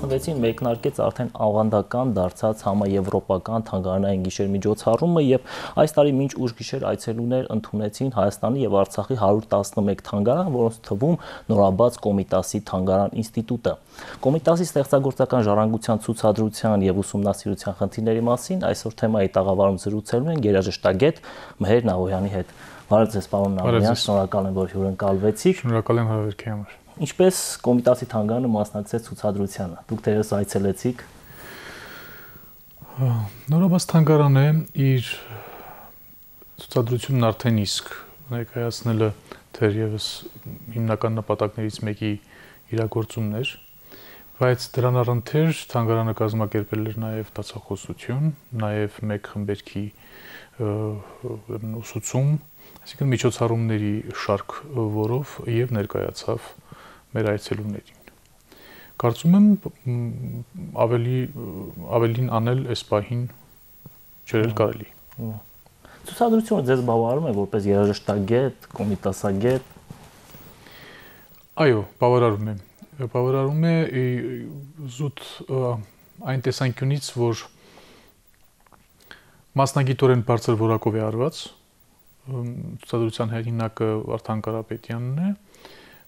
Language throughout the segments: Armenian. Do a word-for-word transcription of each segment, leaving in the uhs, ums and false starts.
տասնվեցին մեկնարկեց արդեն ավանդական դարձած համաեվրոպական թանգարանային գիշեր միջոցառումը եւ այս տարի մինչ ուշ գիշեր այցելուներ ընդունեցին Հայաստանի եւ Արցախի հարյուր տասնմեկ թանգարան, որոնց թվում նորաբաց Կոմիտասի թանգարան ինստիտուտը։ Կոմիտասի ստեղծագործական ժառանգության ցուցադրության եւ ուսումնասիրության խնդիրների մասին այսօր թեմայի տաղավարում զրուցելու են երաժշտագետ Մհեր Նավոյանի հետ։ Բարև ձեզ, պարոն Նավոյան, շնորհակալ եմ, որ հյուրընկալվեցիք։ Շնորհակալ եմ հավերքի համար։ Ինչպես Կոմիտասի թանգարանը մասնակցեց ցուցադրությանը։ Դուք դերս այցելեցիք։ Նորաբաց թանգարանը իր ցուցադրությունն արդեն իսկ ներկայացնելը թերևս հիմնական նպատակներից մեկի իրագործումն էր, բայց դրան առընթեր թանգարանը կազմակերպել էր նաև տածախոսություն, նաև մեկ խմբերքի ուսուցում, այսինքն միջոցառումների շարք, որով եւ ներկայացավ մեր այցելուներին։ Կարծում եմ ավելի ավելին անել այս պահին չէր կարելի։ Ցուցադրությունը ձեզ բավարարում է որպես երաժշտագետ, կոմիտասագետ։ Այո, բավարարում է։ Բավարարում է զուտ այն տեսանկյունից, որ մասնագիտորեն բարձր որակով է արված, ցուցադրության հեղինակը Վարդան Կարապետյանն է,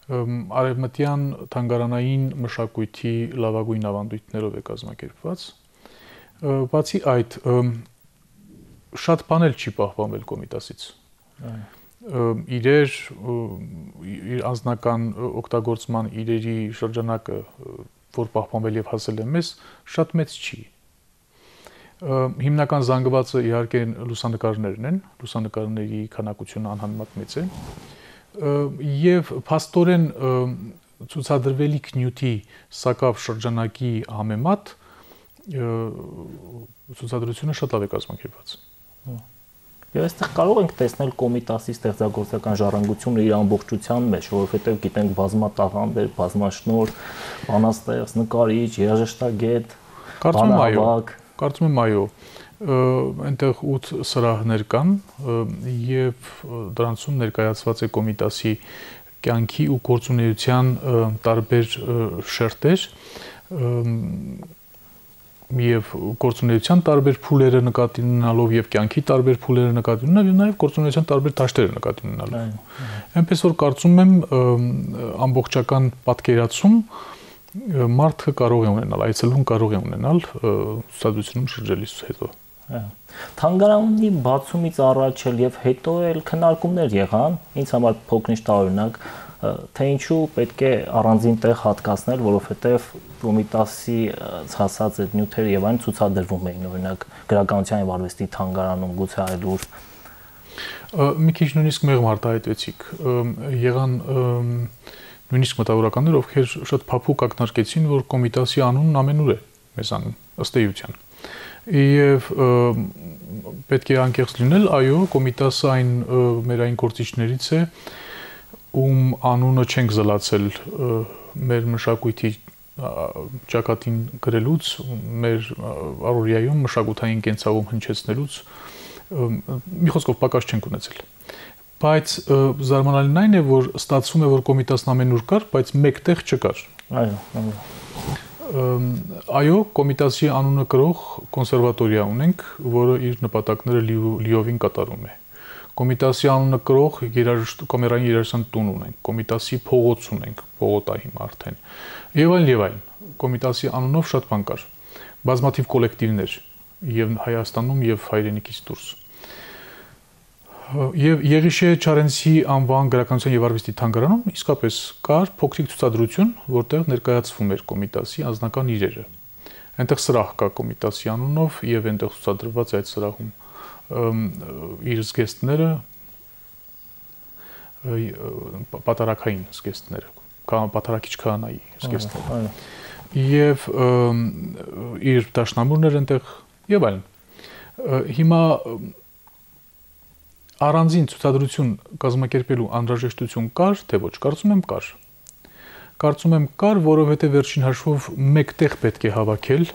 արևմտյան թանգարանային մշակույթի լավագույն ավանդույթներով է կազմակերպված։ Բացի այդ, շատ բան էլ չի պահպանվել Կոմիտասից։ Իրեր, իր անձնական օգտագործման իրերի շրջանակը, որ պահպանվել եւ հասել է մեզ, շատ մեծ չի։ Հիմնական զանգվածը իհարկե լուսանկարներն են, լուսանկարների քանակությունը անհամեմատ մեծ է, եւ փաստորեն ցուցադրվելիք նյութի սակավ շրջանակի համեմատ ցուցադրությունը շատ լավ է կազմակերպված։ Եվ այստեղ կարող ենք տեսնել Կոմիտասի ստեղծագործական ժառանգությունը իր ամբողջության մեջ, որովհետև գիտենք բազմատաղանդեր, բազմաշնոր, բանաստեղծ, նկարիչ, երաժշտագետ, բանահավաք։ Կարծում եմ այո, այնտեղ ութ սրահներ կան եւ դրանցում ներկայացված է Կոմիտասի կյանքի ու գործունեության տարբեր շերտեր եւ գործունեության տարբեր փուլերը նկատի ունենալով եւ կյանքի տարբեր փուլերը նկատի ունենալով եւ նաեւ գործունեության տարբեր դաշտերը նկատի ունենալով։ Այնպես որ կարծում եմ ամբողջական պատկերացում մարդը կարող է ունենալ, այցելուն կարող է ունենալ ցուցադրությունում շրջելիս հետո։ Թանգարանի բացումից առաջ եւ հետո էլ քննարկումներ եղան, ինձ համար փոքրինչ տարօրինակ, թե ինչու պետք է առանձին տեղ հատկացնել, որովհետեւ Կոմիտասի հասած այդ նյութերը եւ այն ցուցադրվում էին, օրինակ գրականության եւ արվեստի թանգարանում, գուցե այլուր։ Մի քիչ նույնիսկ մեղմ արտահայտվեցիք, եղան նույնիսկ մտավորականներ, ովքեր շատ փափուկ ակնարկեցին, որ Կոմիտասի անունն ամենուր է մեզանում, ըստ էության։ Եվ պետք է անկեղծ լինել, այո, Կոմիտասը այն մեր այն գործիչներից է, ում անունը չենք զլացել մեր մշակույթի ճակատին գրելուց, մեր առօրյայում մշակութային կենցաղում հնչեցնելուց, մի խոսքով պակաս չենք ունեցել։ Բայց զարմանալին այն է, որ ստացվում է, որ Կոմիտասն ամենուր կար, բայց մեկ տեղ չկար։ Այո, այո, Կոմիտասի անունը կրող կոնսերվատորիա ունենք, որը իր նպատակները լիովին կատարում է։ Կոմիտասի անունը կրող կոմերային երաժշտության տուն ունենք, Կոմիտասի փողոց ունենք, փողոտա հիմա արդեն։ Եվ այլն եւ այլն։ Կոմիտասի անունով շատ բան կար։ Բազմաթիվ կոլեկտիվներ եւ Հայաստանում եւ հայրենիքից դուրս։ Եվ Եղիշե Չարենցի անվան գրականության եւ արվեստի թանգարանում իսկապես կար փոքրիկ ցուցադրություն, որտեղ ներկայացվում էր Կոմիտասի անձնական իրերը։ Այնտեղ սրահ կա Կոմիտասի անունով եւ այնտեղ ցուցադրված է այդ սրահում իր զգեստները, պատարակային զգեստները, պատարակիչ քահանայի զգեստները։ Եվ իր դաշնամուրներ այնտեղ եւ այլն։ Հիմա առանձին ցուցադրություն կազմակերպելու անհրաժեշտություն կար, թե ոչ, կարծում եմ կար։ Կարծում եմ կար, որովհետև վերջին հաշվով մեկ տեղ պետք է հավաքել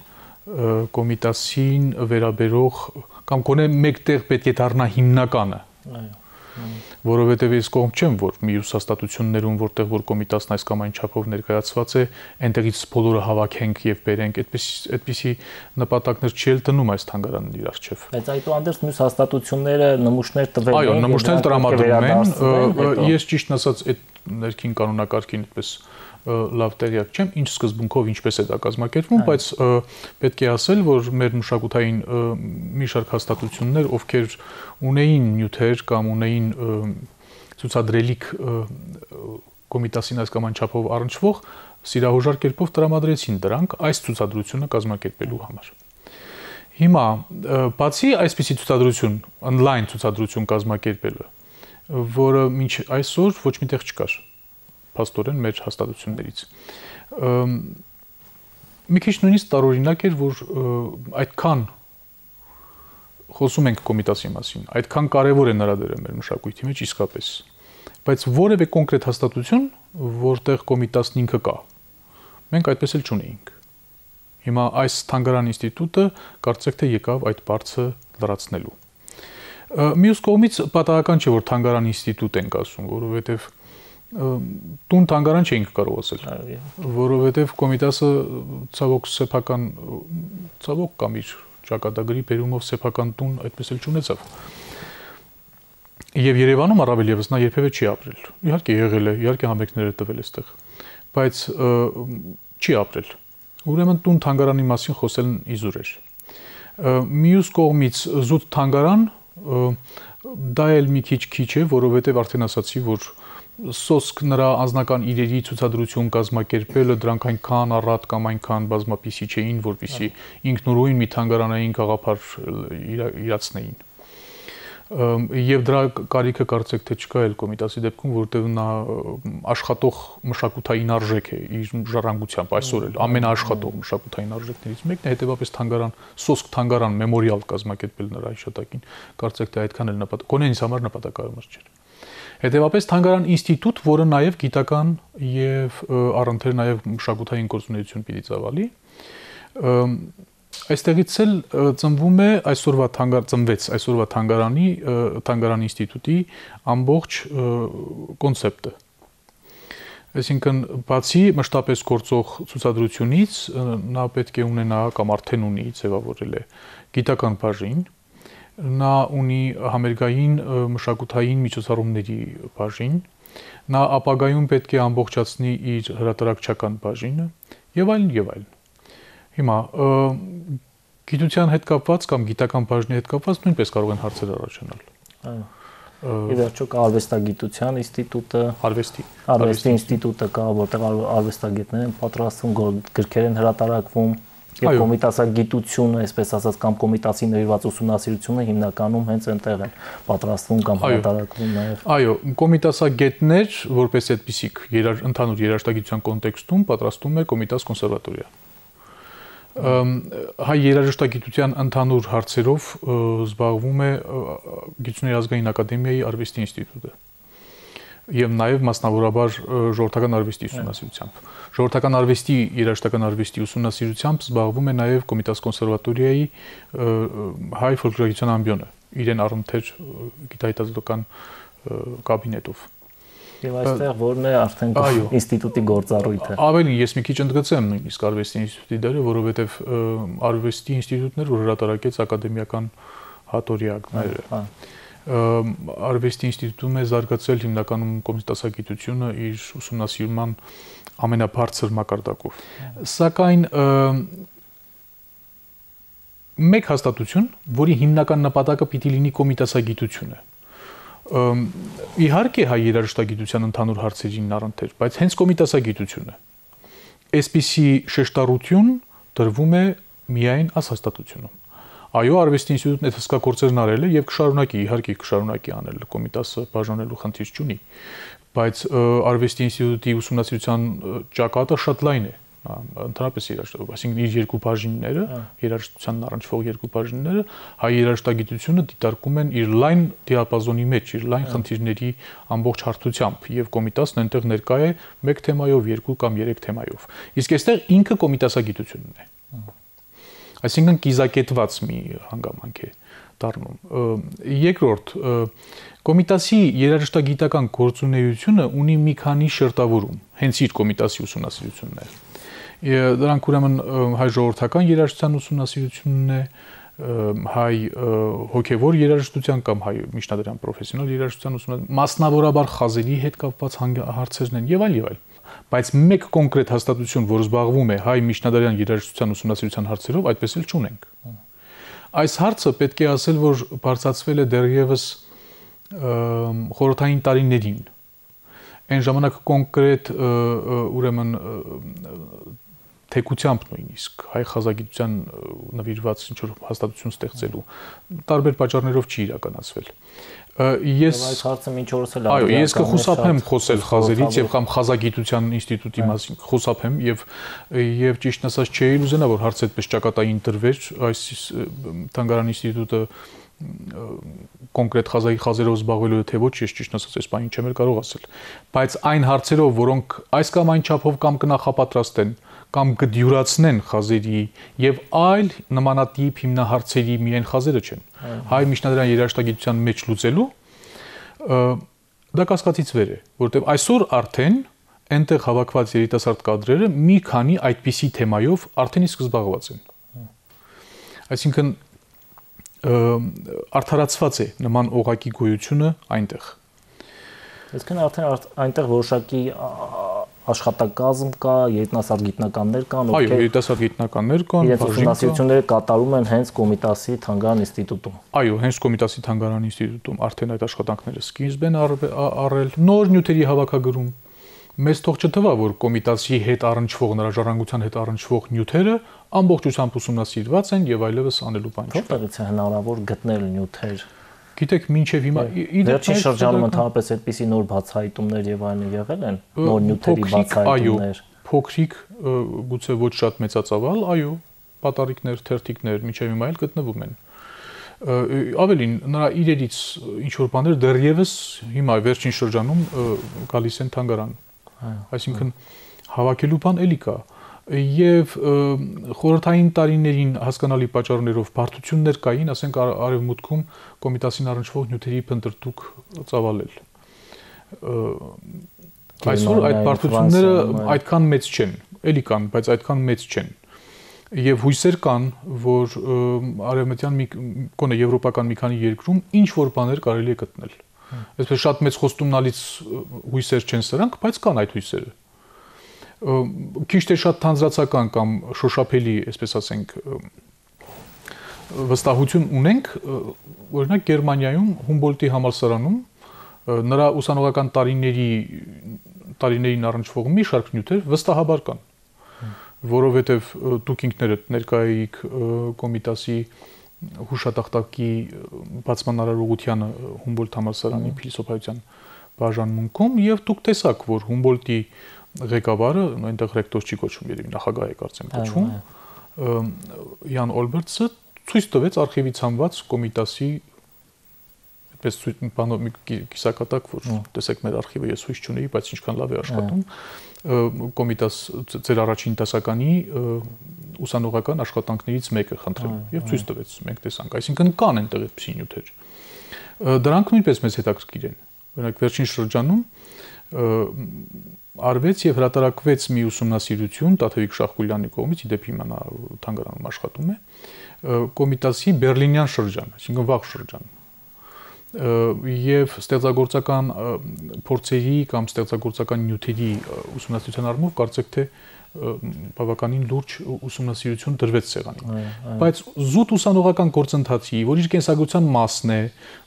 Կոմիտասին վերաբերող կամ գոնե մեկ տեղ պետք է դառնա հիմնականը։ որովհետև ես կողմ չեմ, որ մյուս հաստատություններում, որտեղ որ կոմիտասն այս կամ այն չափով ներկայացված է, այնտեղից բոլորը հավաքենք եւ բերենք, այդպես այդպիսի նպատակներ չի էլ դնում այս թանգարանն իր արչեւ։ Բայց այդուհանդերձ մյուս հաստատությունները նմուշներ տվել են։ Այո, նմուշներ տրամադրում են, ես ճիշտ ասած այդ ներքին կանոնակարգին այդպես լավ տեղյակ չեմ, ինչ սկզբունքով ինչպես է դա կազմակերպվում, բայց պետք է ասել, որ մեր մշակութային մի շարք հաստատություններ, ովքեր ունեին նյութեր կամ ունեին ցուցադրելիք կոմիտասին այս կամ այն չափով առնչվող, սիրահոժար կերպով տրամադրեցին դրանք այս ցուցադրությունը կազմակերպելու համար։ Հիմա, բացի այսպիսի ցուցադրություն, on-line ցուցադրություն կազմակերպելը, որը մինչ այսօր ոչ միտեղ չկար փաստորեն մեր հաստատություններից։ Մի քիչ նույնիսկ տարօրինակ էր, որ այդքան խոսում ենք կոմիտասի մասին, այդքան կարևոր է նրա դերը մեր մշակույթի մեջ իսկապես, բայց որևէ կոնկրետ հաստատություն, որտեղ կոմիտասն ինքը կա, մենք այդպես էլ չունեինք։ Հիմա այս թանգարան ինստիտուտը կարծեք թե եկավ այդ բարձը լրացնելու։ Մյուս կողմից պատահական չէ, որ թանգարան ինստիտուտ ենք ասում, որովհետև տուն թանգարան չէինք կարող ասել, որովհետև կոմիտասը ցավոք սեփական ցավոք կամ իր ճակատագրի բերումով սեփական տուն այդպես էլ չունեցավ։ Եվ Երևանում առավել եւս նա երբևէ չի ապրել։ Իհարկե եղել է, իհարկե համերգներ է տվել այստեղ, բայց չի ապրել։ Ուրեմն տուն թանգարանի մասին խոսելն իզուր էր։ Մյուս կողմից զուտ թանգարան դա էլ մի քիչ քիչ է, որովհետև արդեն ասացի, որ սոսկ նրա անձնական իրերի ցուցադրություն կազմակերպելը դրանք այնքան առատ կամ այնքան բազմապիսի չէին, որպեսզի ինքնուրույն մի թանգարանային գաղափար իրացնեին։ Եվ դրա կարիքը կարծեք թե չկա էլ կոմիտասի դեպքում, որտեղ նա աշխատող մշակութային արժեք է իր ժառանգությամբ այսօր էլ ամենաաշխատող մշակութային արժեքներից մեկն է, հետևաբար թանգարան, սոսկ թանգարան մեմորիալ կազմակերպել նրա հիշատակին, կարծեք թե այդքան էլ նպատակ, գոնե ինձ համար նպատակահարմար չէր։ Հետևաբար թանգարան ինստիտուտ, որը նաև գիտական եւ առընթեր նաև մշակութային գործունեություն պիտի ծավալի, այստեղից էլ ծնվում է այսօրվա թանգարան ծնվեց այսօրվա թանգարանի թանգարան ինստիտուտի ամբողջ կոնցեպտը։ Այսինքն բացի մշտապես գործող ցուցադրությունից նա պետք է ունենա կամ արդեն ունի ձևավորել է գիտական բաժին, նա ունի համերգային մշակութային միջոցառումների բաժին, նա ապագայում պետք է ամբողջացնի իր հրատարակչական բաժինը եւ այլն եւ այլն։ Հիմա գիտության հետ կապված կամ գիտական բաժնի հետ կապված նույնպես կարող են հարցեր առաջանալ։ Այո։ Ի վերջո կա արվեստագիտության ինստիտուտը, արվեստի արվեստի ինստիտուտը կա, որտեղ արվեստագետներ են պատրաստվում, գրքեր են հրատարակվում, եւ կոմիտասագիտությունը, այսպես ասած, կամ կոմիտասի նվիրված ուսումնասիրությունը հիմնականում հենց այնտեղ են պատրաստվում կամ հրատարակվում նաեւ։ Այո, կոմիտասագետներ, որպես այդպիսիք, ընդհանուր երաժշտագիտության կոնտեքստում պատրաստում է Կոմիտաս կոնսերվատորիա։ Հայ երաժշտագիտության ընդհանուր հարցերով զբաղվում է Գիտությունների ազգային ակադեմիայի արվեստի ինստիտուտը եւ նաեւ մասնավորաբար ժողովրդական արվեստի ուսումնասիրությամբ։ Ժողովրդական արվեստի, երաժշտական արվեստի ուսումնասիրությամբ զբաղվում է նաեւ Կոմիտաս կոնսերվատորիայի հայ ֆոլկլորագիտության ամբիոնը, իրեն առընթեր գիտահետազոտական կաբինետով։ Եվ այստեղ որն է արդեն ինստիտուտի գործառույթը։ Ավելին ես մի քիչ ընդգծեմ նույնիսկ արվեստի ինստիտուտի դերը, որովհետև արվեստի ինստիտուտներ, որ հրատարակեց ակադեմիական հատորյակները։ Արվեստի ինստիտուտում է զարգացել հիմնականում կոմիտասագիտությունը իր ուսումնասիրման ամենաբարձր մակարդակով։ Սակայն մեկ հաստատություն, որի հիմնական նպատակը պիտի լինի կոմիտասագիտությունը, իհարկե հայ երաժշտագիտության ընդհանուր հարցերին առընթեր, բայց հենց կոմիտասագիտությունը այսպիսի շեշտառություն դրվում է միայն այս հաստատությունում։ Այո, արվեստի ինստիտուտն այդ հսկա գործերն արել է եւ կշարունակի, իհարկե կշարունակի անել, կոմիտասը բաժանելու խնդիր չունի, բայց արվեստի ինստիտուտի ուսումնասիրության ճակատը շատ լայն է։ Ընդհանրապես երաժշտություն, այսինքն իր երկու բաժինները, երաժշտությանն առնչվող երկու բաժինները, հայ երաժշտագիտությունը դիտարկում են իր լայն դիապազոնի մեջ, իր լայն խնդիրների ամբողջ հարթությամբ, եւ կոմիտասն այնտեղ ներկա է մեկ թեմայով, երկու կամ երեք թեմայով։ Իսկ այստեղ ինքը կոմիտասագիտությունն է։ Այսինքն կիզակետված մի հանգամանք է։ դառնում։ Երկրորդ, Կոմիտասի երաժշտագիտական գործունեությունը ունի մի քանի շերտավորում, հենց իր Կոմիտասի ուսումնասիրությունն է։ Դրանք ուրեմն հայ ժողովրդական երաժշտության ուսումնասիրությունն է, հայ հոգևոր երաժշտության կամ հայ միջնադարյան պրոֆեսիոնալ երաժշտության ուսումնասիրություն, մասնավորաբար խազերի հետ կապված հարցերն են եւ այլ եւ այլ։ Բայց մեկ կոնկրետ հաստատություն, որ զբաղվում է հայ միջնադարյան երաժշտության ուսումնասիրության հարցերով, այդպես էլ չունենք։ Այս հարցը պետք է ասել, որ բարձրացվել է դեռևս խորհրդային տարիներին։ Այն ժամանակ կոնկրետ ուրեմն թեկությամբ նույնիսկ հայ խազագիտության նվիրված ինչ-որ հաստատություն ստեղծելու տարբեր պատճառներով չի իրականացվել։ Ես այս հարցը մինչ օրս էլ այո, ես կխուսափեմ խոսել խազերից եւ կամ խազագիտության ինստիտուտի մասին, խուսափեմ եւ եւ ճիշտ ասած չէի ուզենա, որ հարցը այդպես ճակատային տրվեր, այս Թանգարան ինստիտուտը կոնկրետ խազայի խազերով զբաղվելու է թե ոչ, ես ճիշտ ասած այս բանին չեմ կարող ասել, բայց այն հարցերով, որոնք այս կամ այն չափով կամ կնախապատրաստեն կամ կդյուրացնեն խազերի եւ այլ նմանատիպ հիմնահարցերի միայն խազերը չեն։ Հայ միջնադարյան երաժշտագիտության մեջ լուծելու դա կասկածից վեր է, որովհետեւ այսօր արդեն այնտեղ հավաքված երիտասարդ կադրերը մի քանի այդպիսի թեմայով արդեն իսկ զբաղված են։ Այսինքն արդարացված է նման օղակի գոյությունը այնտեղ։ Այսինքն արդեն այնտեղ որոշակի աշխատակազմ կա, երիտասարդ գիտնականներ կան, ովքեր այո, երիտասարդ գիտնականներ կան, իրենց ուսումնասիրությունները կատարում են հենց Կոմիտասի Թանգարան ինստիտուտում։ Այո, հենց Կոմիտասի Թանգարան ինստիտուտում արդեն այդ աշխատանքները սկիզբ են առել, նոր նյութերի հավաքագրում։ Մեզ թող չթվա, որ Կոմիտասի հետ առնչվող, նրա ժառանգության հետ առնչվող նյութերը ամբողջությամբ ուսումնասիրված են եւ այլևս անելու բան չկա։ Որտեղից է հնարավոր գտնել նյութեր։ Գիտեք, մինչև հիմա վերջին շրջանում ընդհանրապես այդպիսի նոր բացահայտումներ եւ այլն եղել են, նոր նյութերի բացահայտումներ։ Փոքրիկ, գուցե ոչ շատ մեծածավալ, այո, պատառիկներ, թերթիկներ մինչև հիմա էլ գտնվում են։ Ավելին, նրա իրերից ինչ որ բաներ դեռևս հիմա վերջին շրջանում գալիս են Թանգարան։ Այսինքն հավաքելու բան էլի կա։ Եվ խորհրդային տարիներին հասկանալի պատճառներով բարդություններ կային, ասենք արևմուտքում Կոմիտասին առնչվող նյութերի փնտրտուք ծավալել։ Այսօր այդ բարդությունները այդքան մեծ չեն, էլի կան, բայց այդքան մեծ չեն։ Եվ հույսեր կան, որ արևմտյան մի կոնե եվրոպական մի քանի երկրում ինչ որ բաներ կարելի է գտնել։ Այսպես շատ մեծ խոստումնալից հույսեր չեն սրանք, բայց կան այդ հույսերը։ Քիչ թե շատ թանձրացական կամ շոշափելի, այսպես ասենք, վստահություն ունենք, օրինակ Գերմանիայում Հումբոլտի համալսարանում նրա ուսանողական տարիների տարիներին առնչվող մի շարք նյութեր վստահաբար կան, որովհետև դուք ինքներդ ներկայացիք Կոմիտասի հուշատախտակի բացման արարողությանը Հումբոլտ համալսարանի փիլիսոփայության բաժանմունքում եւ դուք տեսաք, որ Հումբոլտի ղեկավարը, այնտեղ ռեկտոր չի կոչվում, երևի նախագահ է կարծեմ կոչվում, Յան Օլբերտսը ցույց տվեց արխիվից հանված Կոմիտասի այդպես բանով մի կիսակատակ, որ տեսեք մեր արխիվը ես հույս չունեի, բայց ինչքան լավ է աշխատում, Կոմիտաս ձեր առաջին դասականի ուսանողական աշխատանքներից մեկը խնդրեմ եւ ցույց տվեց, մենք տեսանք, այսինքն կան այնտեղ այդպիսի նյութեր։ Դրանք նույնպես մեզ հետաքրքիր են։ Օրինակ վերջին շրջանում արվեց եւ հրատարակվեց մի ուսումնասիրություն Տաթևիկ Շախկուլյանի կողմից, իդեպ հիմա նա Թանգարանում աշխատում է, Կոմիտասի Բերլինյան շրջան, այսինքն վաղ շրջան։ Եվ ստեղծագործական փորձերի կամ ստեղծագործական նյութերի ուսումնասիրության առումով կարծեք թե բավականին լուրջ ուսումնասիրություն դրվեց սեղանին։ Բայց զուտ ուսանողական գործընթացի, որ իր կենսագրության մասն է,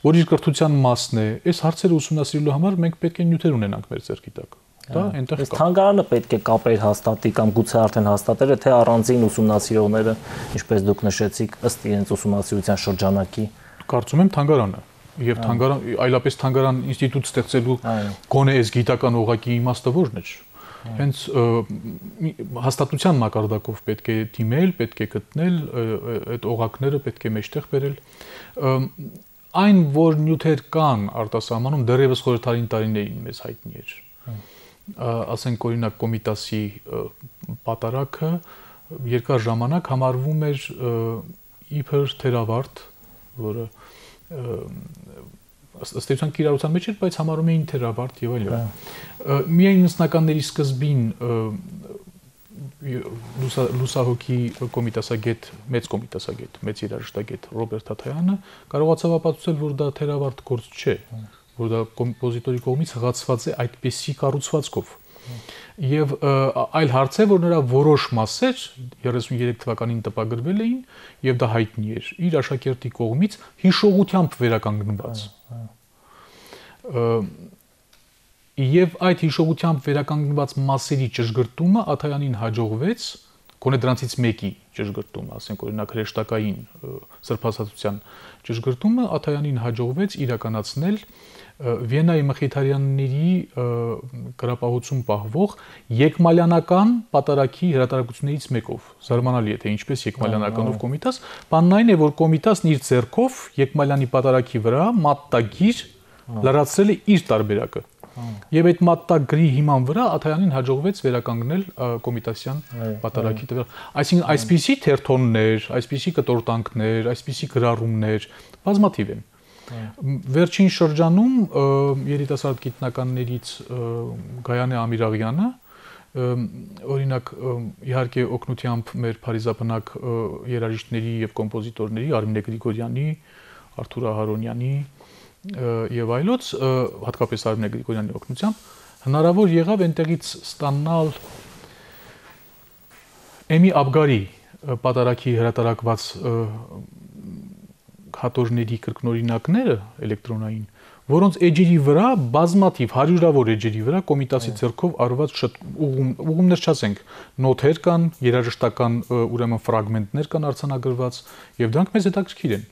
որ իր կրթության մասն է, այս հարցերը ուսումնասիրելու համար մենք պետք է նյութեր ունենանք մեր ձեռքի տակ։ Դա այնտեղ կա։ Թանգարանը պետք է կապեր հաստատի կամ գուցե արդեն հաստատել է, թե առանձին ուսումնասիրողները, ինչպես դուք նշեցիք, ըստ իրենց ուսումնասիրության շրջանակի։ Կարծում եմ Թանգարանը եւ Թանգարան այլապես Թանգարան ինստիտուտ ստեղծելու գոնե այս գիտական օղակի իմաստը ո՞րն է։ Հենց հաստատության մակարդակով պետք է դիմել, պետք է գտնել այդ օղակները, պետք է մեջտեղ բերել։ Այն, որ նյութեր կան արտասահմանում, դեռևս խորհրդային տարիներին մեզ հայտնի էր։ Ասենք օրինակ Կոմիտասի պատարակը երկար ժամանակ համարվում էր իբր թերավարտ, որը ըստ էության կիրառության մեջ էր, բայց համարում էին թերավարտ եւ այլն։ Միայն նստականների սկզբին լուսահոգի կոմիտասագետ, մեծ կոմիտասագետ, մեծ երաժշտագետ Ռոբերտ Թաթայանը կարողացավ ապացուցել, որ դա թերավարտ գործ չէ, որ դա կոմպոզիտորի կողմից հղացված է այդպիսի կառուցվածքով։ Եվ այլ հարց է, որ նրա որոշ մասեր երեսուններեք թվականին տպագրվել էին եւ դա հայտնի էր իր աշակերտի կողմից հիշողությամբ վերականգնված։ Եվ այդ հիշողությամբ վերականգնված մասերի ճշգրտումը Աթայանին հաջողվեց, գոնե դրանցից մեկի ճշգրտումը, ասենք օրինակ հրեշտակային սրբազատության ճշգրտումը Աթայանին հաջողվեց իրականացնել Վիեննայի մխիթարյանների գրապահություն պահվող եկմալյանական պատարագի հրատարակություններից մեկով։ Զարմանալի է, թե ինչպես եկմալյանականով կոմիտաս, բանն այն է, որ կոմիտասն իր ձեռքով եկմալյանի պատարագի վրա մատտագիր լրացրել է իր տարբերակը։ Եվ այդ մատտագրի հիման վրա Աթայանին հաջողվեց վերականգնել կոմիտասյան պատարագի տվյալ։ Այսինքն այսպիսի թերթոններ, այսպիսի կտորտանքներ, այսպիսի գրառումներ բազմաթիվ են։ Վերջին շրջանում երիտասարդ գիտնականներից Գայանե Ամիրաղյանը, օրինակ իհարկե օգնությամբ մեր փարիզաբնակ երաժիշտների եւ կոմպոզիտորների Արմինե Գրիգորյանի, Արթուր Ահարոնյանի եւ այլոց, հատկապես Արմինե Գրիգորյանի օգնությամբ հնարավոր եղավ այնտեղից ստանալ Էմի Աբգարի պատարագի հրատարակված հատորների կրկնօրինակները էլեկտրոնային, որոնց էջերի վրա բազմաթիվ հարյուրավոր էջերի վրա կոմիտասի ձեռքով արված ուղումներ չասենք, նոթեր կան, երաժշտական ուրեմն ֆրագմենտներ կան արձանագրված եւ դրանք մեզ հետաքրքիր են։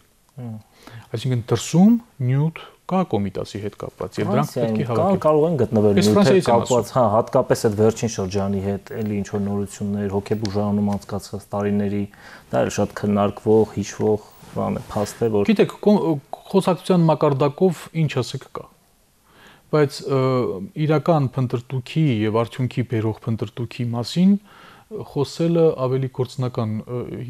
Այսինքն դրսում նյութ կա կոմիտասի հետ կապված եւ դրանք պետք է հավաքել։ Կարող են գտնվել նյութեր կապված, հա, հատկապես այդ վերջին շրջանի հետ, էլի ինչ որ նորություններ, հոգեբուժանում անցկացած տարիների, դա էլ շատ քննարկվող, հիշվող բան է, փաստ է, որ գիտեք, խոսակցության մակարդակով ինչ ասեք կա, բայց իրական փնտրտուքի եւ արդյունքի բերող փնտրտուքի մասին խոսելը ավելի գործնական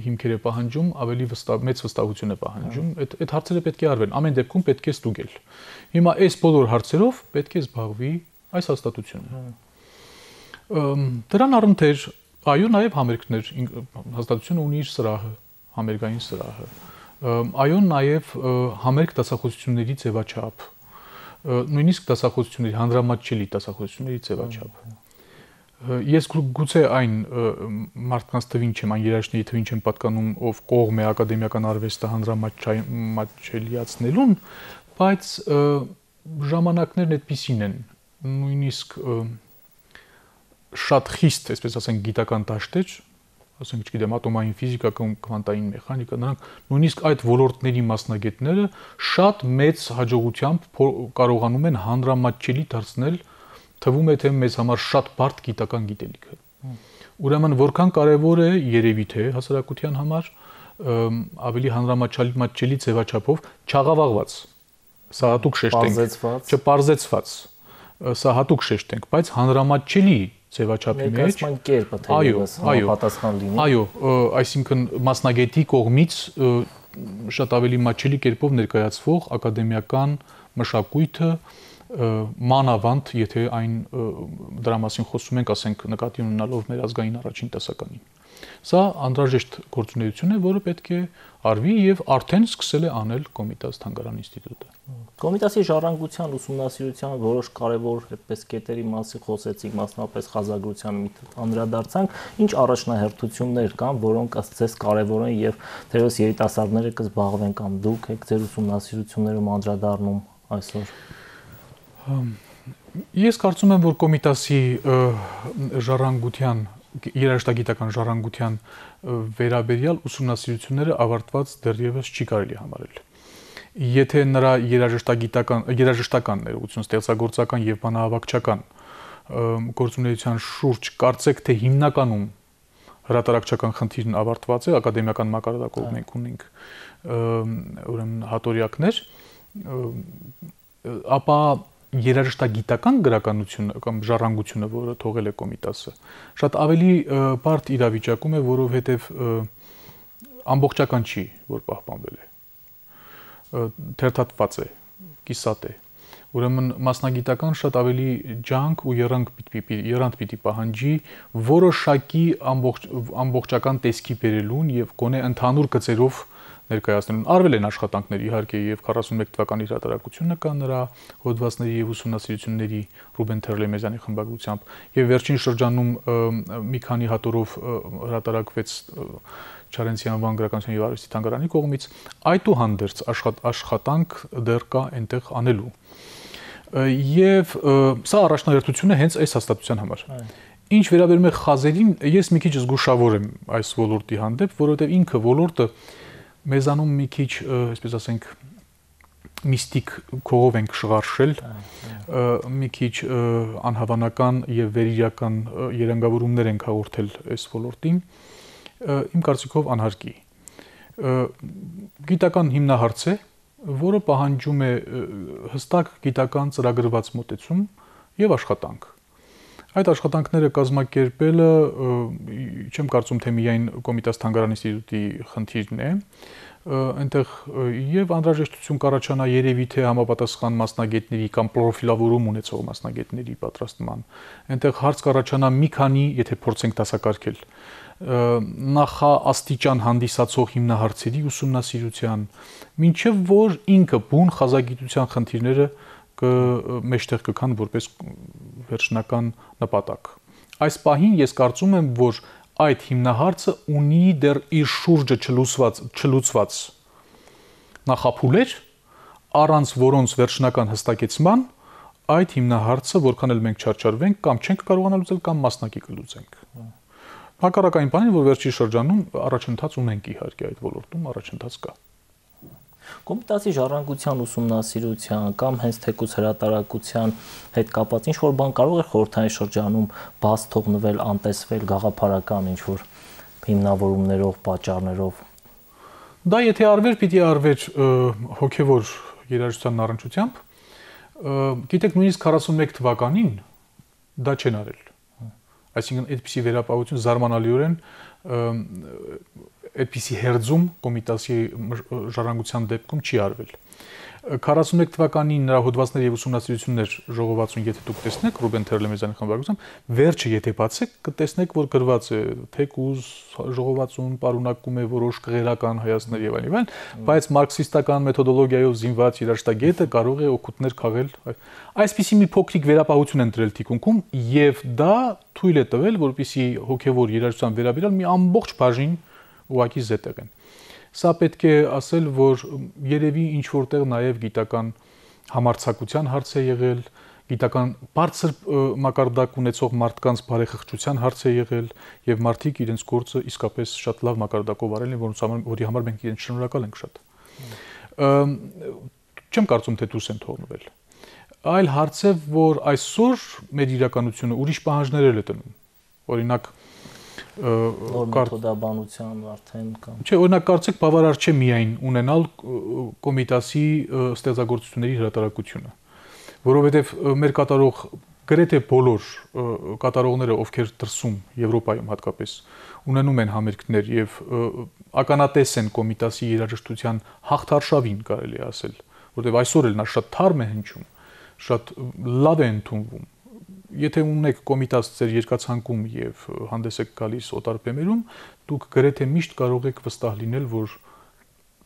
հիմքեր է պահանջում, ավելի վստահ մեծ վստահություն է պահանջում, այդ այդ հարցերը պետք է արվեն, ամեն դեպքում պետք է ստուգել։ Հիմա այս բոլոր հարցերով պետք է զբաղվի այս հաստատությունը։ Դրան առընթեր, այո, նաեւ համերգներ, հաստատությունը ունի իր սրահը, համերգային սրահը։ Այո, նաեւ համերգ դասախոսությունների ձևաչափ, նույնիսկ դասախոսությունների, հանրամատչելի դասախոսությունների ձևաչափ։ Ես գուցե այն մարդկանց թվին չեմ, այն երաժիշտների թվին չեմ պատկանում, ով կողմ է ակադեմիական արվեստը հանրամատչելիացնելուն, բայց ժամանակներն այդպիսին են, նույնիսկ շատ խիստ, այսպես ասենք, գիտական դաշտեր, ասենք, չգիտեմ, ատոմային ֆիզիկա կամ քվանտային մեխանիկա, նրանք նույնիսկ այդ ոլորտների մասնագետները շատ մեծ հաջողությամբ կարողանում են հանրամատչելի դարձնել, թվում է թե մեզ համար շատ բարդ գիտական գիտելիքը։ Ուրեմն որքան կարևոր է երևի թե հասարակության համար ավելի հանրամատչելի ձևաչափով չաղավաղված, սա հատուկ շեշտենք, չպարզեցված, սա հատուկ շեշտենք, բայց հանրամատչելի ձևաչափի մեջ ներկայացման կերպը թերևս համապատասխան լինի։ Այո, այսինքն մասնագետի կողմից շատ ավելի մատչելի կերպով ներկայացվող ակադեմիական մշակույթը մանավանդ, եթե այն դրա մասին խոսում ենք, ասենք նկատի ունենալով մեր ազգային առաջին տեսականին։ Սա անհրաժեշտ գործունեություն է, որը պետք է արվի եւ արդեն սկսել է անել Կոմիտաս Թանգարան ինստիտուտը։ Կոմիտասի ժառանգության ուսումնասիրության որոշ կարևոր այդպես կետերի մասին խոսեցինք, մասնավորապես խազագրության անդրադարձանք, ինչ առաջնահերթություններ կան, որոնք ըստ ձեզ կարևոր են եւ թերևս երիտասարդները կզբաղվեն կամ դուք եք ձեր ուսումնասիրություններում անդրադառնում այսօր։ Ես կարծում եմ, որ Կոմիտասի ժառանգության, երաժշտագիտական ժառանգության վերաբերյալ ուսումնասիրությունները ավարտված դեռևս չի կարելի համարել։ Եթե նրա երաժշտագիտական, երաժշտական ներողություն, ստեղծագործական եւ բանահավաքչական գործունեության շուրջ կարծեք թե հիմնականում հրատարակչական խնդիրն ավարտված է, ակադեմիական մակարդակով մենք ունենք ուրեմն հատորյակներ, ապա երաժշտագիտական գրականությունը կամ ժառանգությունը, որը թողել է Կոմիտասը, շատ ավելի բարդ իրավիճակում է, որովհետև ամբողջական չի, որ պահպանվել է։ թերթատված է, կիսատ է։ Ուրեմն մասնագիտական շատ ավելի ջանք ու երանգ պիտի երանգ պիտի պահանջի որոշակի ամբողջ ամբողջական տեսքի բերելուն եւ գոնե ընդհանուր գծերով ներկայացնելուն։ Արվել են աշխատանքներ իհարկե եւ քառասունմեկ թվականի հրատարակությունը կա նրա հոդվածների եւ ուսումնասիրությունների Ռուբեն Թերլեմեզյանի խմբագրությամբ եւ վերջին շրջանում մի քանի հատորով հրատարակվեց Չարենցի անվան գրականության եւ արվեստի թանգարանի կողմից այդուհանդերձ աշխատանք դեռ կա այնտեղ անելու։ Եվ սա առաջնահերթություն է հենց այս հաստատության համար։ Ինչ վերաբերում է խազերին, ես մի քիչ զգուշավոր եմ այս ոլորտի հանդեպ, որովհետև ինքը ոլորտը մեզանում մի քիչ, այսպես ասենք, միստիկ քողով ենք շղարշել, մի քիչ անհավանական եւ վերիրական երանգավորումներ ենք հաղորդել այս ոլորտին, իմ կարծիքով անհարկի։ Գիտական հիմնահարց է, որը պահանջում է հստակ գիտական ծրագրված մոտեցում եւ աշխատանք։ Այդ աշխատանքները կազմակերպելը չեմ կարծում թե միայն Կոմիտաս թանգարան ինստիտուտի խնդիրն է, այնտեղ եւ անհրաժեշտություն կառաջանա երևի թե համապատասխան մասնագետների կամ պրոֆիլավորում ունեցող մասնագետների պատրաստման։ Այնտեղ հարց կառաջանա մի քանի, եթե փորձենք դասակարգել, նախաաստիճան հանդիսացող հիմնահարցերի ուսումնասիրության, մինչև որ ինքը բուն խազագիտության խնդիրները մեջտեղ կգան որպես վերջնական նպատակ։ Այս պահին ես կարծում եմ, որ այդ հիմնահարցը ունի դեռ իր շուրջը չլուծված, չլուծված նախափուլեր, առանց որոնց վերջնական հստակեցման այդ հիմնահարցը որքան էլ մենք չարչարվենք կամ չենք կարողանա լուծել կամ մասնակի կլուծենք։ Հակառակային բանին, որ վերջի շրջանում առաջընթաց ունենք իհարկե այդ ոլորտում առաջընթաց կա։ Կոմիտասի ժառանգության ուսումնասիրության կամ հենց թեկուզ հրատարակության հետ կապված ինչ որ բան կարող է խորհրդային շրջանում բաց թողնվել, անտեսվել գաղափարական ինչ որ հիմնավորումներով, պատճառներով։ Դա եթե արվեր, պիտի արվեր հոգևոր երաժշտության առնչությամբ։ Գիտեք, նույնիսկ քառասունմեկ թվականին դա չեն արել։ Այսինքն այդպիսի վերապահություն զարմանալիորեն այդպիսի հերձում Կոմիտասի ժառանգության դեպքում չի արվել։ քառասունմեկ թվականին նրա հոդվածներ եւ ուսումնասիրություններ ժողովածուն եթե դուք տեսնեք Ռուբեն Թերլեմեզյանի խմբագրությամբ, վերջը եթե բացեք, կտեսնեք, որ գրված է թեկուզ ժողովածուն պարունակում է որոշ կղերական հայացքներ եւ այլն, բայց մարքսիստական մեթոդոլոգիայով զինված երաժշտագետը կարող է օգուտներ քաղել։ Այսպիսի մի փոքրիկ վերապահություն են դրել թիկունքում եւ դա թույլ է տվել, որպեսզի հոգեվոր երաժշտության վերաբերյալ մի ամբողջ բաժին ուղղակի զետեղ են։ Սա պետք է ասել, որ երևի ինչ որտեղ նաև գիտական համարձակության հարց է եղել, գիտական բարձր մակարդակ ունեցող մարդկանց բարեխղճության հարց է եղել եւ մարդիկ իրենց գործը իսկապես շատ լավ մակարդակով արել են, որոնց համար որի համար մենք իրենց շնորհակալ ենք շատ։ Չեմ կարծում թե դուրս են թողնվել։ Այլ հարց է, որ այսօր մեր իրականությունը ուրիշ պահանջներ է տնում։ Օրինակ մեթոդաբանության արդեն կամ Չէ, օրինակ կարծեք բավարար չէ միայն ունենալ Կոմիտասի ստեղծագործությունների հրատարակությունը, որովհետև մեր կատարող գրեթե բոլոր կատարողները, ովքեր դրսում Եվրոպայում հատկապես ունենում են համերգներ եւ ականատես են Կոմիտասի երաժշտության հաղթարշավին, կարելի է ասել, որովհետև այսօր էլ նա շատ թարմ է հնչում, շատ լավ է ընդունվում։ Եթե ունեք Կոմիտաս ձեր երկացանկում եւ հանդես եք գալիս օտար բեմերում, դուք գրեթե միշտ կարող եք վստահ լինել, որ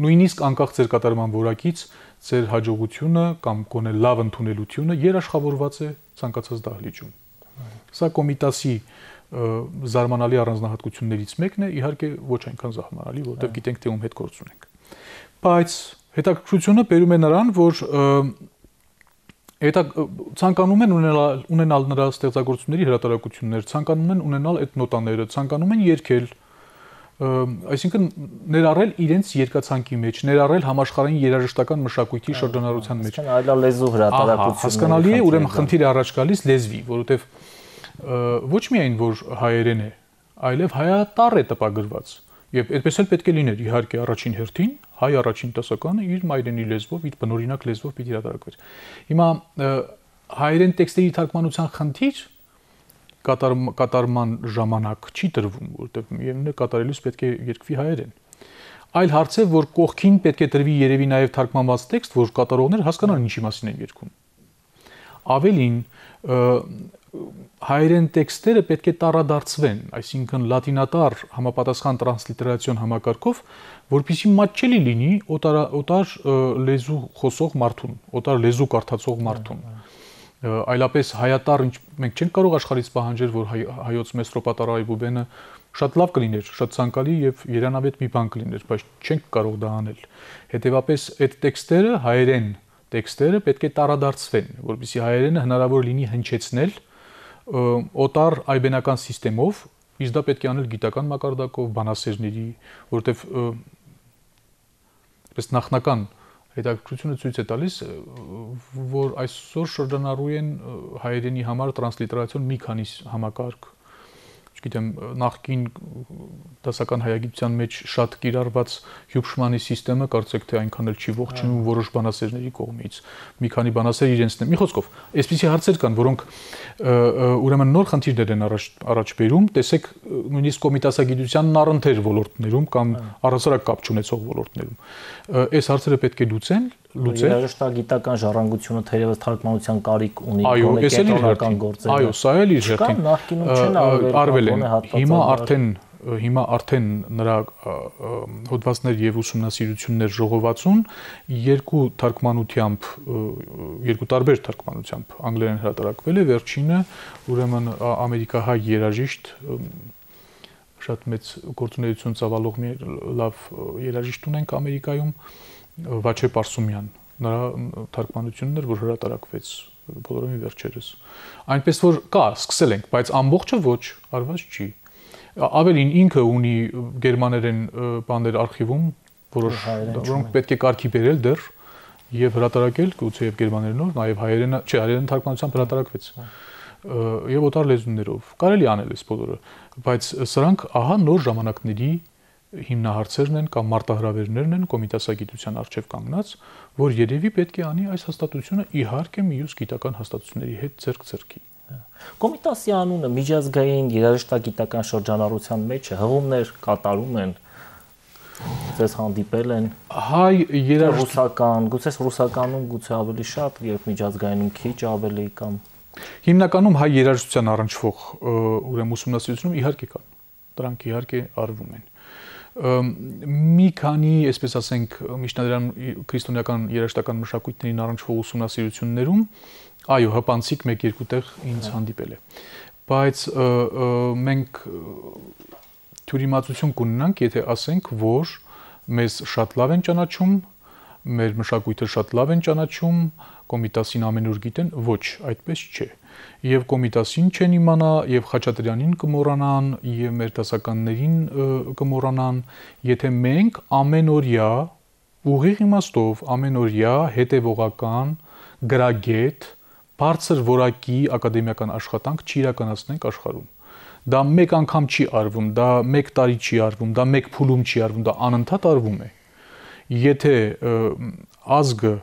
նույնիսկ անկախ ձեր կատարման որակից ձեր հաջողությունը կամ գոնե լավ ընդունելությունը երաշխավորված է ցանկացած դահլիճում։ Սա Կոմիտասի զարմանալի առանձնահատկություններից մեկն է, իհարկե ոչ այնքան զարմանալի, որովհետեւ գիտենք թե ում հետ գործ ունենք։ Բայց հետաքրքրությունը բերում է նրան, որ Դա ցանկանում են ունենալ ունենալ նրա ստեղծագործությունների հրատարակություններ, ցանկանում են ունենալ այդ նոտաները, ցանկանում են երգել, այսինքն ներառել իրենց երկացանկի մեջ, ներառել համաշխարհային երաժշտական մշակույթի շրջանառության մեջ։ Այսինքն այլալեզու հրատարակություններ։ Հասկանալի է, ուրեմն խնդիրը առաջ գալիս լեզվի, որովհետև ոչ միայն որ հայերեն է, այլև հայատառ է տպագրված։ Եվ այդպես էլ պետք է լիներ, իհարկե, առաջին հերթին հայ առաջին դասականը իր մայրենի լեզվով, իր բնօրինակ լեզվով պիտի հրատարակվեր։ Հիմա հայերեն տեքստերի թարգմանության խնդիր կատարման ժամանակ չի տրվում, որովհետև միևնույն է կատարելուց պետք է երկվի հայերեն։ Այլ հարց է, որ կողքին պետք է դրվի երևի նաև թարգմանված տեքստ, որ կատարողները հասկանան ինչի մասին են երգում։ Ավելին, հայերեն տեքստերը պետք է տարադարձվեն, այսինքն լատինատար համապատասխան տրանսլիտերացիոն համակարգով, որպեսզի մատչելի լինի օտար, օտար լեզու խոսող մարդուն, օտար լեզու կարդացող մարդուն։ Այլապես հայատար, մենք չենք կարող աշխարհից պահանջել, որ հայոց մետրոպատար Այբուբենը շատ լավ կլիներ, շատ ցանկալի եւ երանավետ մի բան կլիներ, բայց չենք կարող դա անել։ Հետևաբար այդ տեքստերը, հայերեն տեքստերը պետք է տարադարձվեն, որպեսզի հայերենը հնարավոր լինի հնչեցնել օտար այբենական համակարգով, իսկ դա պետք է անել գիտական մակարդակով, բանասերների, որովհետեւ ըստ նախնական հետաքրքրությունը ցույց է տալիս, որ այսօր շրջանառու են հայերենի համար տրանսլիտերացիոն մի քանի համակարգ, չգիտեմ, նախկին դասական հայագիտության մեջ շատ կիրառված Հյուբշմանի համակարգը կարծեք թե այնքան էլ չի ողջունում որոշ բանասերների կողմից։ Մի քանի բանասեր իրենցն են։ Մի խոսքով, այսպիսի հարցեր կան, որոնք ուրեմն նոր խնդիրներ են առաջ առաջ բերում, տեսեք նույնիսկ կոմիտասագիտությանն առընթեր ոլորտներում կամ առհասարակ կապ չունեցող ոլորտներում։ Այս հարցերը պետք է լուծեն, լուծել։ Երաժշտագիտական ժառանգությունը թերևս թարգմանության կարիք ունի, այո, այս էլ իր գործերը։ Այո, սա էլ իր հերթին։ Նախկինում չեն արվել են։ Հիմա արդեն հիմա արդեն նրա հոդվածներ եւ ուսումնասիրություններ ժողովածուն երկու թարգմանությամբ, երկու տարբեր թարգմանությամբ անգլերեն հրատարակվել է, վերջինը ուրեմն ամերիկահայ երաժիշտ, շատ մեծ գործունեություն ծավալող մի լավ երաժիշտ ունենք Ամերիկայում, Վաչե Պարսումյան, նրա թարգմանությունն էր, որ հրատարակվեց բոլորովին վերջերս։ Այնպես որ կա, սկսել ենք, բայց ամբողջը ոչ, արված չի։ Ավելին ինքը ունի գերմաներեն բաներ արխիվում, որոշ որոնք պետք է կարգի բերել դեռ եւ հրատարակել, գուցե եւ գերմաներենով, նաեւ հայերենը, չէ, հայերեն թարգմանությամբ հրատարակվեց։ Եվ օտար լեզուներով կարելի անել այս բոլորը, բայց սրանք ահա նոր ժամանակների հիմնահարցերն են կամ մարտահրավերներն են կոմիտասագիտության առջև կանգնած, որ երևի պետք է անի այս հաստատությունը իհարկե մյուս գիտական հաստատությունների հետ ձեռք-ձեռքի։ Կոմիտասի անունը միջազգային երաժշտագիտական շրջանառության մեջ է, հղումներ կատարում են, ձեզ հանդիպել են հայ երաժշտական, գուցե ռուսականում գուցե ավելի շատ, երբ միջազգայինում քիչ ավելի կամ հիմնականում հայ երաժշտության առնչվող ուրեմն ուսումնասիրությունում իհարկե կան, դրանք իհարկե արվում են։ Մի քանի, այսպես ասենք, միջնադարյան քրիստոնեական երաժշտական մշակույթներին առնչվող ուսումնասիրություններում, այո, հպանցիկ մեկ-երկու տեղ ինձ հանդիպել է։ Բայց մենք թյուրիմացություն կունենանք, եթե ասենք, որ մեզ շատ լավ են ճանաչում, մեր մշակույթը շատ լավ են ճանաչում, Կոմիտասին ամենուր գիտեն, ոչ, այդպես չէ։ Եվ Կոմիտասին չեն իմանա, եւ Խաչատրյանին կմոռանան, եւ մեր դասականներին կմոռանան, եթե մենք ամենօրյա ուղիղ իմաստով ամենօրյա հետևողական գրագետ բարձր որակի ակադեմիական աշխատանք չիրականացնենք աշխարհում։ Դա մեկ անգամ չի արվում, դա մեկ տարի չի արվում, դա մեկ փուլում չի արվում, դա անընդհատ արվում է։ Եթե ազգը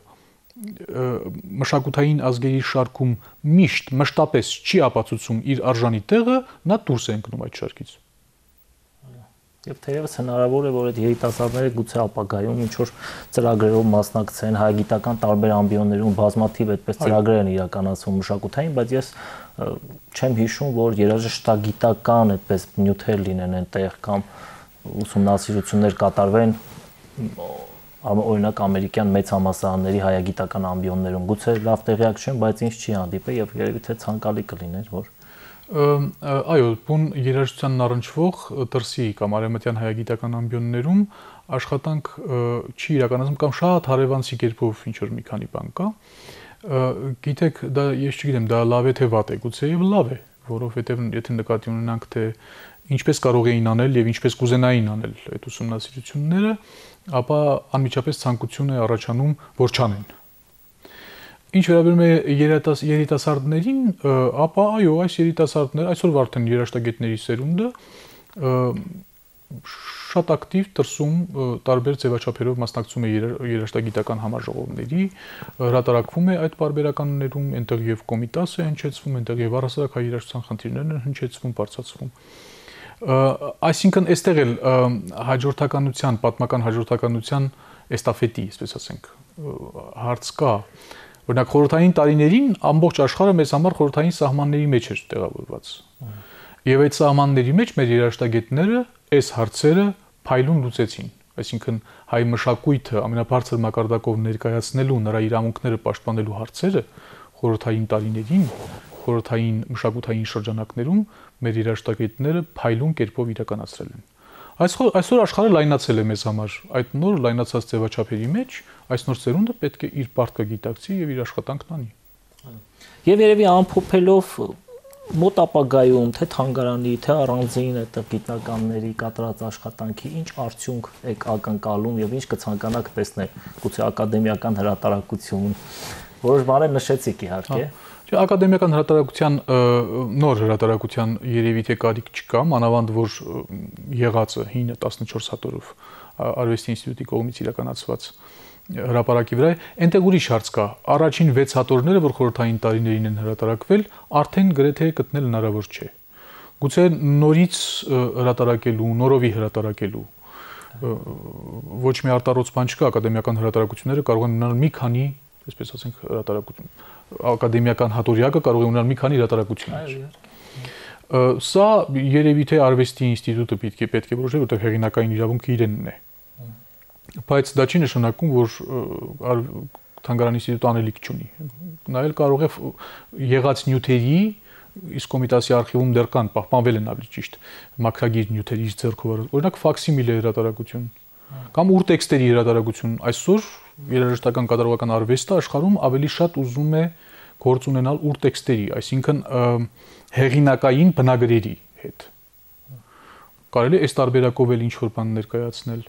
մշակութային ազգերի շարքում միշտ մշտապես չի ապացուցում իր արժանի տեղը, նա դուրս է ընկնում այդ շարքից։ Եվ թերևս հնարավոր է, որ այդ երիտասարդները գուցե ապագայում ինչ-որ ծրագրերով մասնակցեն, հայագիտական տարբեր ամբիոններում բազմաթիվ այդպես ծրագրեր են իրականացվում մշակութային, բայց ես չեմ հիշում, որ երաժշտագիտական այդպես նյութեր լինեն այնտեղ կամ ուսումնասիրություններ կատարվեն օրինակ ամերիկյան մեծ համալսարանների հայագիտական ամբիոններում, գուցե լավ տեղյակ չեմ, բայց ինձ չի հանդիպել եւ երևի թե ցանկալի կլիներ, որ այո, բուն երաժշտությանն առնչվող դրսի կամ արևմտյան հայագիտական ամբիոններում աշխատանք չի իրականացվում կամ շատ հարևանցի կերպով ինչ որ մի քանի բան կա։ Գիտեք, դա ես չգիտեմ, դա լավ է թե վատ է, գուցե եւ լավ է, որովհետեւ եթե նկատի ունենանք թե ինչպես կարող էին անել եւ ինչպես կուզենային անել այդ ուսումնասիրությունները, ապա անմիջապես ցանկություն է առաջանում, որ չանեն։ Ինչ վերաբերում է երիտասարդներին, ապա այո, այս երիտասարդները այսօր արդեն երաժշտագետների սերունդը շատ ակտիվ դրսում տարբեր ձևաչափերով մասնակցում է երաժշտագիտական համաժողովների, հրատարակվում է այդ պարբերականներում, այնտեղ եւ Կոմիտաս է հնչեցվում, այնտեղ եւ առհասարակ հայ երաժշտության խնդիրներն են հնչեցվում, բարձրացվում։ Այսինքն այստեղ էլ հաջորդականության, պատմական հաջորդականության էստաֆետի, այսպես ասենք, հարց կա։ Օրինակ խորհրդային տարիներին ամբողջ աշխարհը մեզ համար խորհրդային սահմանների մեջ էր տեղավորված։ Եվ այդ սահմանների մեջ մեր երաժշտագետները այս հարցերը փայլուն լուծեցին։ Այսինքն հայ մշակույթը ամենաբարձր մակարդակով ներկայացնելու, նրա իրավունքները պաշտպանելու հարցերը խորհրդային տարիներին, խորհրդային մշակութային շրջանակներում մեր երաժշտագետները փայլուն կերպով իրականացրել են։ Այսօր այսօր աշխարհը լայնացել է մեզ համար, այդ նոր լայնացած ձևաչափերի մեջ այս նոր ծերունդը պետք է իր պարտքը գիտակցի եւ իր աշխատանքն անի։ Եվ երևի ամփոփելով մոտ ապագայում թե թանգարանի, թե առանձին այդտեղ գիտնականների կատարած աշխատանքի ինչ արդյունք եք ակնկալում եւ ինչ կցանկանաք տեսնել, գուցե ակադեմիական հրատարակություն, որոշ բաներ նշեցիք իհարկե։ Ակադեմիական հրատարակության նոր հրատարակության երևի թե կարիք չկա, մանավանդ որ եղածը հինը տասնչորս հատորով Արվեստի ինստիտուտի կողմից իրականացված հրապարակի վրա է, այնտեղ ուրիշ հարց կա։ Առաջին վեց հատորները, որ խորհրդային տարիներին են հրատարակվել, արդեն գրեթե գտնել հնարավոր չէ։ Գուցե նորից հրատարակելու, նորովի հրատարակելու ոչ մի արտառոց բան չկա, ակադեմիական հրատարակությունները կարող են ունենալ մի քանի, այսպես ասենք, հրատարակություն, ակադեմիական հատորյակը կարող է ունենալ մի քանի հրատարակություններ։ Սա երևի թե Արվեստի ինստիտուտը պետք է պետք է որոշի, որտեղ հեղինակային իրավունքը իրենն է։ Բայց դա չի նշանակում, որ թանգարանի ինստիտուտը անելիք չունի։ Նա էլ կարող է եղած նյութերի, իսկ Կոմիտասի արխիվում դեռ կան, պահպանվել են ավելի ճիշտ, մաքրագիր նյութերի ձեռքով, օրինակ ֆաքսիմիլե հրատարակություն կամ ուրտեքստերի հրատարակություն։ Այսօր երաժշտական կատարողական արվեստը աշխարհում ավելի շատ ուզում է գործ ունենալ ուրտեքստերի, այսինքն հեղինակային բնագրերի հետ։ Կարելի է այս տարբերակով էլ ինչ-որ բան ներկայացնել,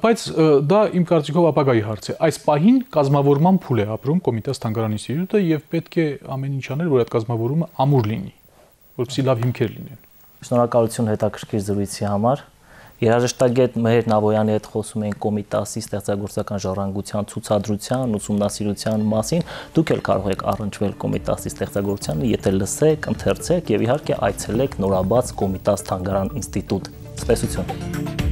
բայց դա իմ կարծիքով ապագայի հարց է։ Այս պահին կազմավորման փուլ է ապրում Կոմիտաս թանգարան ինստիտուտը եւ պետք է ամեն ինչ անել, որ այդ կազմավորումը ամուր լինի, որպեսզի լավ հիմքեր լինեն։ Շնորհակալություն հետաքրքիր զրույցի համար։ Երաժշտագետ Մհեր Նավոյանի հետ խոսում ենք Կոմիտասի ստեղծագործական ժառանգության ցուցադրության, ուսումնասիրության մասին։ Դուք էլ կարող եք առնչվել Կոմիտասի ստեղծագործությանը, եթե լսեք, ընթերցեք եւ իհարկե այցելեք նորաբաց Կոմիտաս թանգարան ինստիտուտ։ Ցտեսություն։